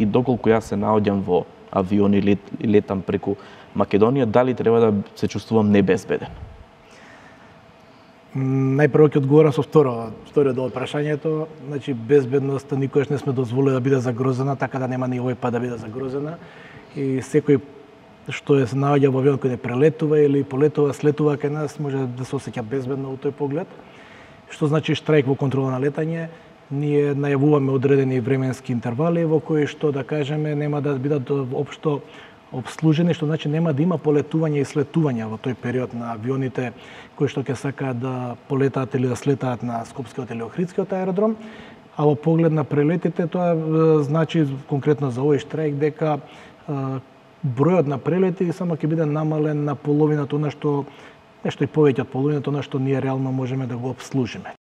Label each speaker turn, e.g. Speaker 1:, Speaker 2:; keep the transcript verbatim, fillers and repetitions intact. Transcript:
Speaker 1: и доколку јас се наоѓам во авион и лет, летам преку Македонија, дали треба да се чувствувам небезбеден?
Speaker 2: Најпрво ќе одговорам со второ, вториот дел од прашањето. Значи, безбедноста никогаш не сме дозволили да биде загрозена, така да нема ни овој пат да биде загрозена. И секој што е се наоѓа во авион кој не прелетува или полетува, слетува кај нас, може да се осеќа безбедно во тој поглед. Што значи штрајк во контрола на летање? Ние најавуваме одредени временски интервали во кои што, да кажеме, нема да бидат општо обслужени, што значи нема да има полетување и слетување во тој период на авионите кои што ќе сакаат да полетаат или да слетаат на Скопскиот или Охридскиот аеродром. А во поглед на прелетите, тоа значи конкретно за овој штрајк дека бројот на прелети само ќе биде намален на половината, она што нешто и повеќе од половината, она што ние реално можеме да го обслужиме.